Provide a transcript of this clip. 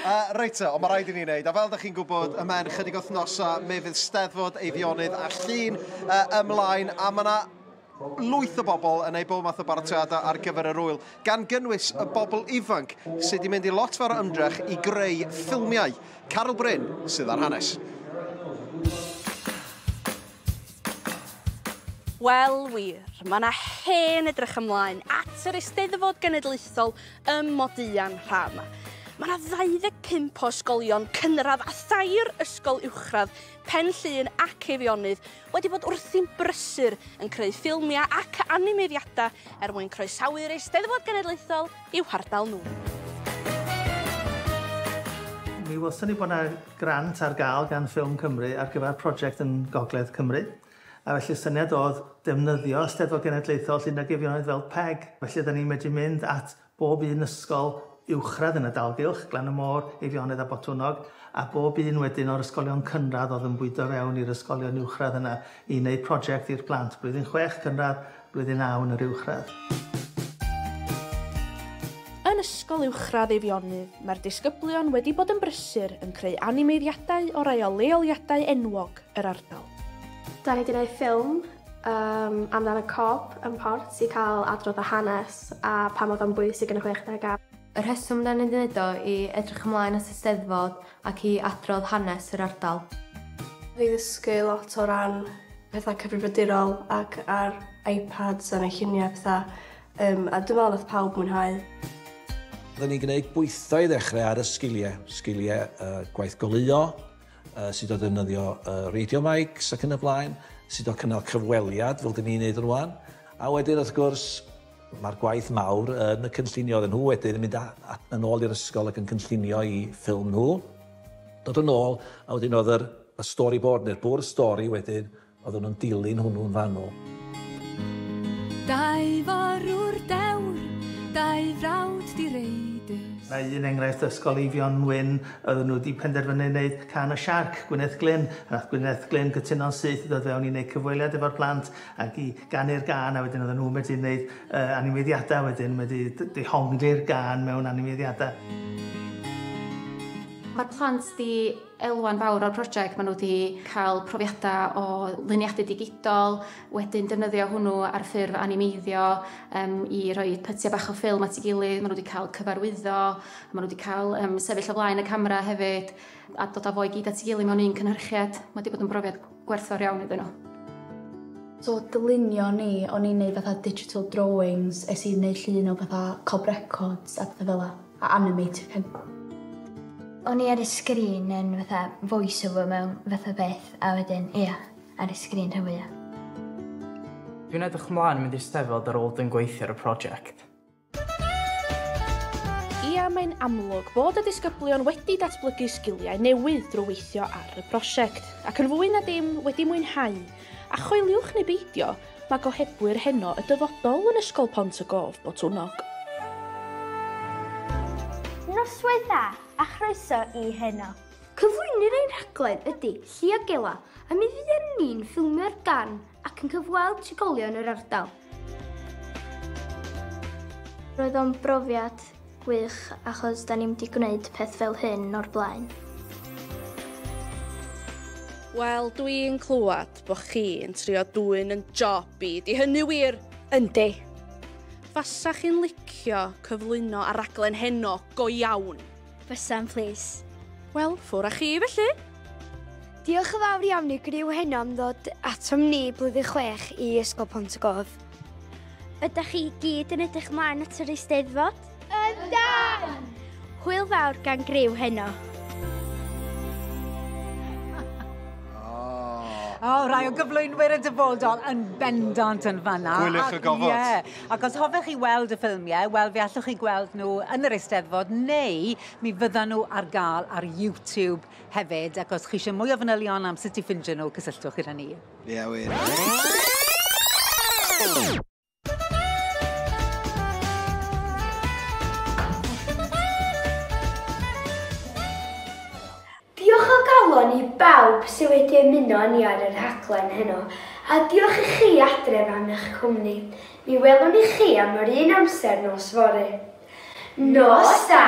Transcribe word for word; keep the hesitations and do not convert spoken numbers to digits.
Uh, reit te, ond mae rhaid i ni wneud. A fel ydych chi'n gwybod, ymhen chydig wythnosau, mi fydd Steddfod Eifionydd a Llŷn uh, ymlaen, a mae yna lwyth o bobl yn ei bob math o baratoiadau ar gyfer yr wyl, gan gynnwys y bobl ifanc sydd wedi mynd i lot fawr o ymdrech i greu ffilmiau. Carol Bryn sydd ar hanes. Wel wir, mae yna hen edrych ymlaen at yr Eisteddfod Genedlaethol ym Modian rha yma. Mae yna ddau ddeg pump o ysgolion cynradd a thair ysgol uwchradd, Pen Llŷn ac Eifionydd wedi bod wrthi'n brysur yn creu ffilmiau ac animeiddiadau er mwyn croesawu'r Eisteddfod Genedlaethol i'w hardal nhw. Mi welson ni bod yna grant ar gael gan Ffilm Cymru ar gyfer prosiect yn Gogledd Cymru. A felly syniad oedd defnyddio Eisteddfod Genedlaethol Llŷn ac Eifionydd fel peg. Felly da ni'n medru mynd at bob un ysgol uwchradd yn y dalgylch, Glan y Môr, Eifionydd a Botwnnog, a bob un wedyn o'r ysgolion cynradd oedd yn bwydo fewn i'r ysgolion uwchradd yna i wneud prosiect i'r plant, blwyddyn chwech cynradd, blwyddyn naw yn yr uwchradd. Yn ysgol uwchradd Eifionydd, mae'r disgyblion wedi bod yn brysur yn creu animeiddiadau o rai o leoliadau enwog yr ardal. Da ni wedi gwneud ffilm um, amdan y Cob yn Port i cael adrodd y hanes a pam oedd o'n bwysig yn y chwechdegau. Y rheswm da ni'n gwneud o i edrych ymlaen at y Steddfod ac i adrodd hanes yr ardal. Fi ddysgu lot o ran pethau cyfrifiadurol ac ar iPads a neu lluniau pethau, um, a dwi'n meddwl nath pawb mwynhau. Oedden ni'n gwneud bwytho i ddechrau ar y sgiliau, sgiliau uh, gwaith goleuo, uh, sut o ddefnyddio uh, radio mics ac yn y blaen, sut o cynnal cyfweliad fel dyn ni'n neud rwan. A wedyn wrth gwrs, mae'r gwaith mawr yn y cynllunio oedden nhw wedyn yn mynd a, a, yn ôl i'r ysgol ac yn cynllunio i ffilm nhw. Dod yn ôl, a wedyn oedd yr, y storyboard neu'r bwrdd stori wedyn, oedden nhw'n dilyn hwnnw'n fanwl. Dau forwr dewr, dau frawd direidus. Mae un enghraifft ysgol Eifion Wyn, oedden nhw wedi penderfynu wneud Cân y Siarc, Gwyneth Glyn. A nath Gwyneth Glyn gytuno'n syth i ddod fewn i wneud cyfweliad efo'r plant ac i ganu'r gân, a wedyn oedden nhw wedi wneud uh, animeiddiadau wedyn, wedi dehongli'r gân mewn animeiddiadau. Mae'r plant di elwa'n fawr o'r prosiect. Maen nhw wedi cael profiadau o luniadu digidol, wedyn defnyddio hwnnw ar ffurf animeiddio um, i roi pytiau bach o ffilm at ei gilydd. Maen nhw wedi cael cyfarwyddo, maen nhw wedi cael um, sefyll o flaen y camera hefyd, a dod â fo i gyd at ei gilydd mewn un cynhyrchiad. Mae wedi bod yn brofiad gwerthfawr iawn iddyn nhw. So dylunio ni, o'n i'n neud fatha digital drawings, es i wneud llun o fatha Cob Records a pethau fel 'a, a animated hyn. O'n i ar y sgrin yn fatha voice-over mewn fatha beth, a wedyn, ia, ar y sgrin rhan fwyaf. Dwi'n edrych ymlaen yn mynd i'r Steddfod ar ôl dyn gweithio ar y prosiect. Ia, mae'n amlwg bod y disgyblion wedi datblygu sgiliau newydd drwy weithio ar y prosiect, ac yn fwy na dim wedi mwynhau. A choeliwch neu beidio, mae gohebwyr heno y dyfodol yn Ysgol Pont y Gof Botwnnog. Noswaith dda a chroeso i heno. Cyflwynir ein rhaglen ydy Llio Gela, a mi fydd ni'n ffilmio'r darn ac yn cyfweld trigolion yr ardal. Roedd o'n brofiad gwych achos da ni'm wedi gwneud peth fel hyn o'r blaen. Wel, dwi'n clywed bod chi'n trio dwyn yn job i. Di hynny wir? Yndi. Fasa chi'n licio cyflwyno ar raglen heno go iawn? Fysa'n, please. Wel, ffwr â chi felly. Diolch yn fawr iawn i griw heno am ddod atom ni blwyddyn chwech i Ysgol Pont y Gof. Ydych chi gyd yn edrych mlaen at yr Eisteddfod? Yndan! Hwyl fawr gan griw heno. O, oh, rai o gyflwynwyr y dyfodol yn bendant yn fanna. Gwyliwch y gofod. Ie, ac os hoffech chi weld y ffilmiau, wel, fe allwch chi gweld nhw yn yr Eisteddfod, neu mi fyddan nhw ar gael ar YouTube hefyd. Ac os chi eisiau mwy o fanylion am sut i ffindio nhw, cysylltwch gyda ni. Ie, wir. Diolch o galon i bawb sydd wedi ymuno â ni ar y rhaglen heno, a diolch i chi adref am eich cwmni. Mi welwn i chi am yr un amser nos fory. Nos da!